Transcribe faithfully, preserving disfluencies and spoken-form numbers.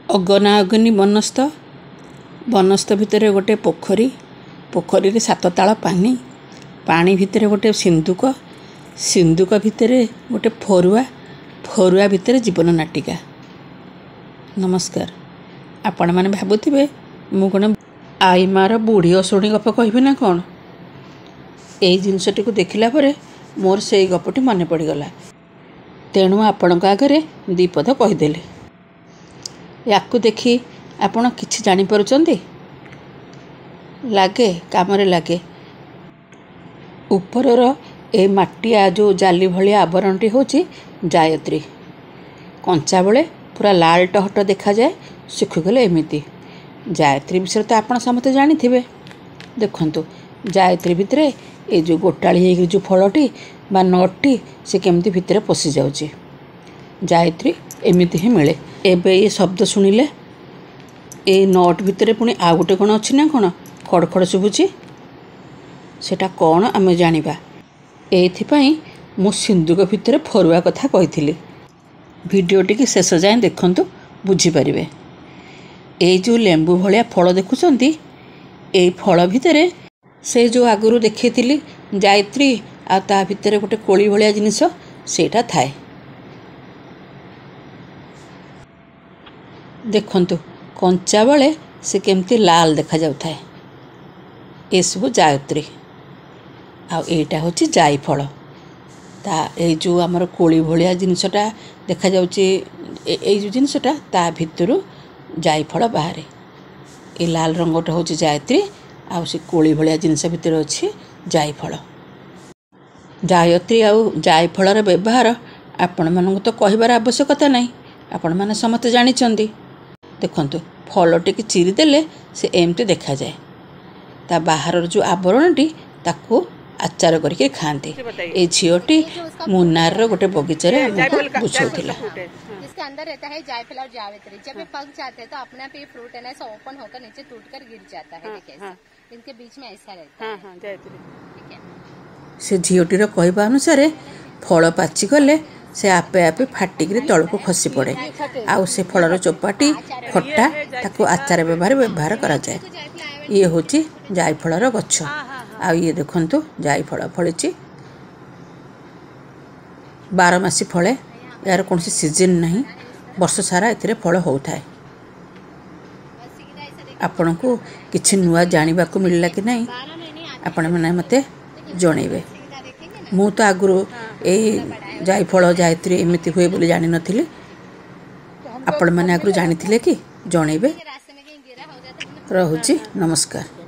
ଅଗନା ଅଗନି ବନସ୍ତ ବନସ୍ତ ଭିତରେ ଗୋଟେ ପୋଖରୀ ପୋଖରୀରେ ସାତ ତାଳ ପାଣି ପାଣି ଭିତରେ ଗୋଟେ ସିନ୍ଦୁକ ସିନ୍ଦୁକ ଭିତରେ ଗୋଟେ ଫରୁଆ ଫରୁଆ ଭିତରେ ଜୀବନ ନାଟିକା ନମସ୍କାର ଆପଣମାନେ ଭାବୁଥିବେ ମୁଁ କ'ଣ ଆଈମାର ବୁଢ଼ୀ ଅଶୁଣୀ ଗପ କହିବି ନା କ'ଣ ଏଇ ଜିନିଷଟିକୁ ଦେଖିଲା ପରେ ମୋର ସେଇ ଗପଟି ମନେ ପଡ଼ିଗଲା ତେଣୁ ଆପଣଙ୍କ ଆଗରେ ଦୁଇ ପଦ କହିଦେଲି ୟାକୁ ଦେଖି ଆପଣ କିଛି ଜାଣିପାରୁଛନ୍ତି ଲାଗେ କାମରେ ଲାଗେ ଉପରର ଏ ମାଟିଆ ଯେଉଁ ଜାଲି ଭଳିଆ ଆବରଣଟି ହେଉଛି ଜାୟତ୍ରୀ କଞ୍ଚା ବେଳେ ପୁରା ଲାଲ ଟହଟ ଦେଖାଯାଏ ଶୁଖିଗଲେ ଏମିତି ଜାୟତ୍ରୀ ବିଷୟରେ ତ ଆପଣ ସମସ୍ତେ ଜାଣିଥିବେ ଦେଖନ୍ତୁ ଜାୟତ୍ରୀ ଭିତରେ ଏଇ ଯେଉଁ ଗୋଟାଳି ହେଇକି ଯେଉଁ ଫଳଟି ବା ନଟ୍ଟି ସେ କେମିତି ଭିତରେ ପଶିଯାଉଛି ଜାୟତ୍ରୀ ଏମିତି ହିଁ ମିଳେ ଏବେ ଏ ଶବ୍ଦ ଶୁଣିଲେ ଏଇ not ଭିତରେ ପୁଣି ଆଉ ଗୋଟେ କ'ଣ ଅଛି ନା କ'ଣ ଖଡ଼ ଖଡ଼ ଶୁଭୁଛି ସେଟା କ'ଣ ଆମେ ଜାଣିବା ଏଇଥିପାଇଁ ମୁଁ ସିନ୍ଦୁକ ଭିତରେ ଫରୁଆ କଥା କହିଥିଲି ଭିଡ଼ିଓଟିକି ଶେଷ ଯାଏଁ ଦେଖନ୍ତୁ ବୁଝିପାରିବେ ଏଇ ଯେଉଁ ଲେମ୍ବୁ ଭଳିଆ ଫଳ ଦେଖୁଛନ୍ତି ଏଇ ଫଳ ଭିତରେ ସେ ଯେଉଁ ଆଗରୁ ଦେଖେଇଥିଲି ଜାୟତ୍ରୀ ଆଉ ତା ଭିତରେ ଗୋଟେ କୋଳି ଭଳିଆ ଜିନିଷ ସେଇଟା ଥାଏ ଦେଖନ୍ତୁ କଞ୍ଚା ବେଳେ ସେ କେମିତି ଲାଲ ଦେଖାଯାଉଥାଏ ଏସବୁ ଜାୟତ୍ରୀ ଆଉ ଏଇଟା ହେଉଛି ଜାଇଫଳ ତା ଏଇ ଯେଉଁ ଆମର କୋଳି ଭଳିଆ ଜିନିଷଟା ଦେଖାଯାଉଛି ଏଇ ଯେଉଁ ଜିନିଷଟା ତା ଭିତରୁ ଜାଇଫଳ ବାହାରେ ଏ ଲାଲ ରଙ୍ଗଟା ହେଉଛି ଜାୟତ୍ରୀ ଆଉ ସେ କୋଳି ଭଳିଆ ଜିନିଷ ଭିତରେ ଅଛି ଜାଇଫଳ ଜାୟତ୍ରୀ ଆଉ ଜାଇଫଳର ବ୍ୟବହାର ଆପଣମାନଙ୍କୁ ତ କହିବାର ଆବଶ୍ୟକତା ନାହିଁ ଆପଣମାନେ ସମସ୍ତେ ଜାଣିଛନ୍ତି ଦେଖନ୍ତୁ ଫଳଟିକି ଚିରିଦେଲେ ସେ ଏମିତି ଦେଖାଯାଏ ତା ବାହାରର ଯେଉଁ ଆବରଣଟି ତାକୁ ଆଚାର କରିକି ଖାଆନ୍ତି ଏ ଝିଅଟି ମୁନାରର ଗୋଟେ ବଗିଚାରେ ଆମକୁ ବୁଝାଉଥିଲା इसके अंदर रहता है जायफल और जावित्री जब ये पक जाते हैं तो अपने आप ये फ्रूट है ना ऐसा ओपन होकर नीचे टूट कर गिर जाता है देखिए ऐसा इनके बीच में ऐसा रहता है ठीक है ସେ ଝିଅଟିର କହିବା ଅନୁସାରେ ଫଳ ପାଚିଗଲେ ସେ ଆପେ ଆପେ ଫାଟିକିରି ତଳକୁ ଖସି ପଡ଼େ ଆଉ ସେ ଫଳର ଚୋପାଟି ଖଟା ତାକୁ ଆଚାର ବ୍ୟବହାର ବ୍ୟବହାର କରାଯାଏ ଇଏ ହେଉଛି ଜାଇଫଳର ଗଛ ଆଉ ଇଏ ଦେଖନ୍ତୁ ଜାଇଫଳ ଫଳିଛି ବାରମାସୀ ଫଳେ ଏହାର କୌଣସି ସିଜନ୍ ନାହିଁ ବର୍ଷ ସାରା ଏଥିରେ ଫଳ ହେଉଥାଏ ଆପଣଙ୍କୁ କିଛି ନୂଆ ଜାଣିବାକୁ ମିଳିଲା କି ନାହିଁ ଆପଣମାନେ ମୋତେ ଜଣେଇବେ ମୁଁ ତ ଆଗରୁ ଏଇ ଜାଇଫଳ ଜାୟତ୍ରୀ ଏମିତି ହୁଏ ବୋଲି ଜାଣିନଥିଲି ଆପଣମାନେ ଆଗରୁ ଜାଣିଥିଲେ କି ଜଣେଇବେ रास्ते में कहीं गिरा हो जाता है ରହୁଛି ନମସ୍କାର